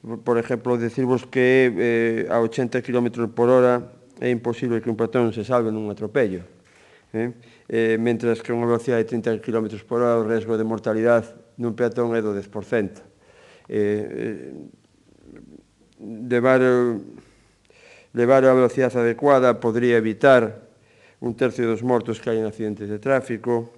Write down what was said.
Por exemplo, decirvos que a 80 km por hora é imposible que un peatón se salve nun atropello. Mentras que unha velocidade de 30 km por hora o risco de mortalidade nun peatón é do 10%. Levar a velocidade adecuada podría evitar un tercio dos mortos que hai en accidentes de tráfico.